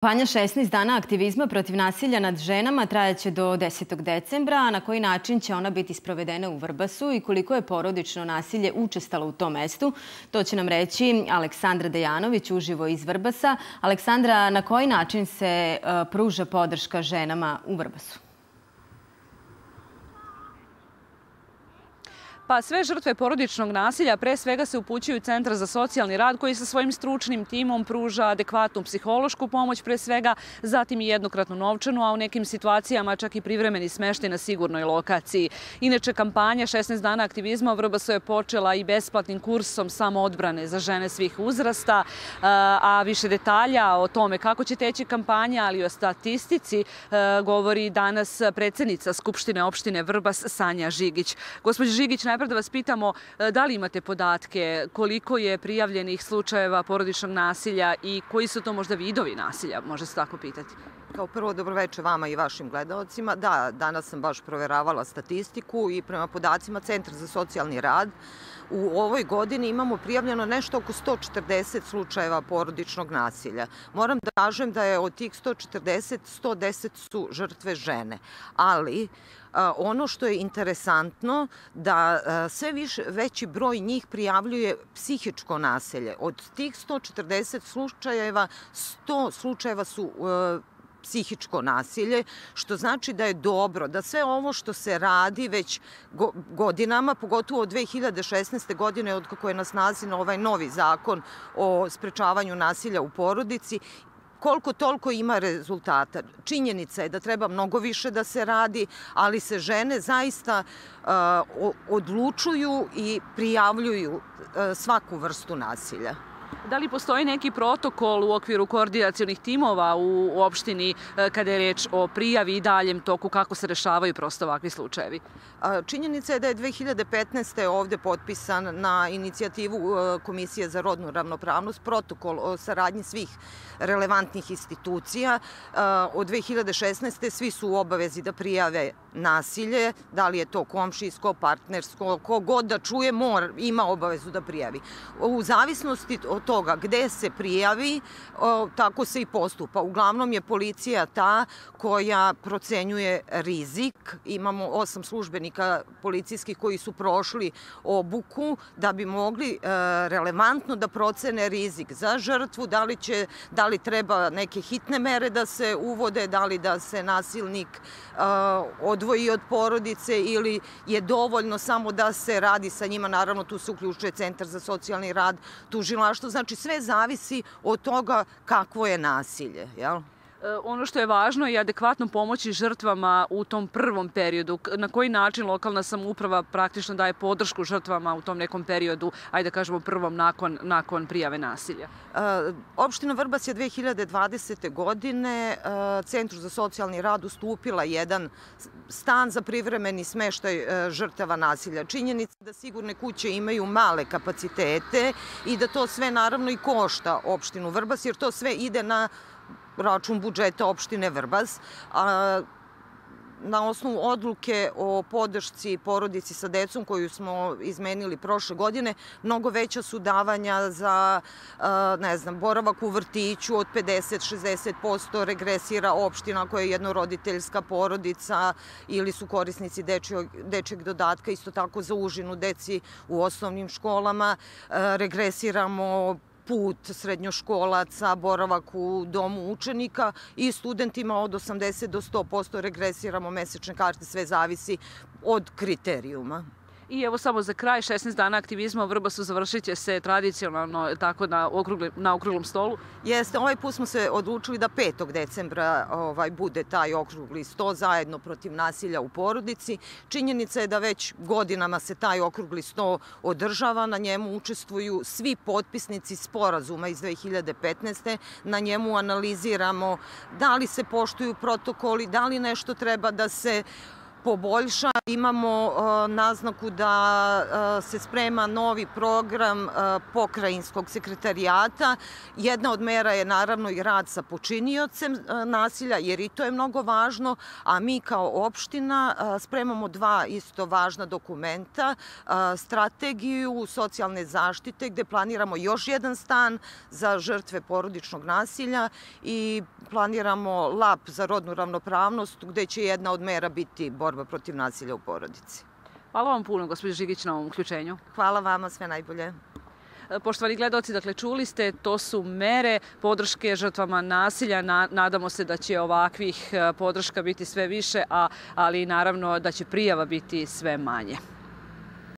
Kampanja 16 dana aktivizma protiv nasilja nad ženama trajaće do 10. decembra, a na koji način će ona biti sprovedena u Vrbasu i koliko je porodično nasilje učestalo u tom mestu, to će nam reći Aleksandra Dejanović uživo iz Vrbasa. Aleksandra, na koji način se pruža podrška ženama u Vrbasu? Pa sve žrtve porodičnog nasilja pre svega se upućuju u Centar za socijalni rad koji sa svojim stručnim timom pruža adekvatnu psihološku pomoć pre svega, zatim i jednokratnu novčanu, a u nekim situacijama čak i privremeni smeštaj na sigurnoj lokaciji. Inače, kampanja 16 dana aktivizma u Vrbasu je počela i besplatnim kursom samoodbrane za žene svih uzrasta, a više detalja o tome kako će teći kampanja, ali i o statistici govori danas predsjednica Skupštine opštine Vrbas Sanja Žigić. Gospođo Žigić, najprej da vas pitamo da li imate podatke koliko je prijavljenih slučajeva porodičnog nasilja i koji su to možda vidovi nasilja, može se tako pitati? Kao prvo, dobroveče vama i vašim gledaocima. Da, danas sam baš proveravala statistiku i prema podacima Centra za socijalni rad u ovoj godini imamo prijavljeno nešto oko 140 slučajeva porodičnog nasilja. Moram da kažem da je od tih 140, 110 su žrtve žene, ali ono što je interesantno da sve veći broj njih prijavljuje psihičko nasilje. Od tih 140 slučajeva, 100 slučajeva su psihičko nasilje, što znači da je dobro da sve ovo što se radi već godinama, pogotovo od 2016. godine, od kako je na snazi ovaj novi zakon o sprečavanju nasilja u porodici, koliko toliko ima rezultata. Činjenica je da treba mnogo više da se radi, ali se žene zaista odlučuju i prijavljuju svaku vrstu nasilja. Da li postoji neki protokol u okviru koordinacionih timova u opštini kada je reč o prijavi i daljem toku, kako se rešavaju prosto ovakvi slučajevi? Činjenica je da je 2015. ovde potpisan na inicijativu Komisije za rodnu ravnopravnost protokol o saradnji svih relevantnih institucija. Od 2016. svi su u obavezi da prijave nasilje, da li je to komšijsko, partnersko, kogod da čuje ima obavezu da prijavi. U zavisnosti od toga gde se prijavi, tako se i postupa. Uglavnom je policija ta koja procenjuje rizik. Imamo 8 službenika policijskih koji su prošli obuku da bi mogli relevantno da procene rizik za žrtvu, da li treba neke hitne mere da se uvode, da li da se nasilnik odvoji od porodice ili je dovoljno samo da se radi sa njima. Naravno, tu se uključuje Centar za socijalni rad, tužilaštvo. Znači, sve zavisi od toga kakvo je nasilje, jel? Ono što je važno je adekvatno pomoći žrtvama u tom prvom periodu. Na koji način lokalna samouprava praktično daje podršku žrtvama u tom nekom periodu, ajde da kažemo prvom nakon prijave nasilja? Opština Vrbas je 2020. godine Centru za socijalni rad ustupila jedan stan za privremeni smeštaj žrtava nasilja. Činjenica da sigurne kuće imaju male kapacitete i da to sve naravno i košta opštinu Vrbas, jer to sve ide na račun budžeta opštine Vrbas. Na osnovu odluke o podršci porodici sa decom koju smo izmenili prošle godine, mnogo veća su davanja za, ne znam, boravak u vrtiću od 50-60% regresira opština koja je jednoroditeljska porodica ili su korisnici dečjeg dodatka, isto tako za užinu deci u osnovnim školama. Regresiramo put srednjoškolaca, boravak u domu učenika i studentima od 80 do 100% regresiramo mesečne karte, sve zavisi od kriterijuma. I evo samo za kraj, 16 dana aktivizma u Vrbasu završit će se tradicionalno tako na okruglom stolu. Jeste, ovaj put smo se odlučili da 5. decembra bude taj okrugli sto zajedno protiv nasilja u porodici. Činjenica je da već godinama se taj okrugli sto održava, na njemu učestvuju svi potpisnici sporazuma iz 2015. Na njemu analiziramo da li se poštuju protokoli, da li nešto treba da se poboljša. Imamo naznaku da se sprema novi program pokrajinskog sekretarijata. Jedna od mera je naravno i rad sa počiniocem nasilja, jer i to je mnogo važno, a mi kao opština spremamo dva isto važna dokumenta, strategiju socijalne zaštite gde planiramo još jedan stan za žrtve porodičnog nasilja i planiramo lab za rodnu ravnopravnost gde će jedna od mera biti borba protiv nasilja u porodici. Hvala vam puno, gospođo Žigić, na ovom uključenju. Hvala vama, sve najbolje. Poštovani gledaoci, dakle, čuli ste, to su mere podrške žrtvama nasilja. Nadamo se da će ovakvih podrška biti sve više, ali naravno da će prijava biti sve manje.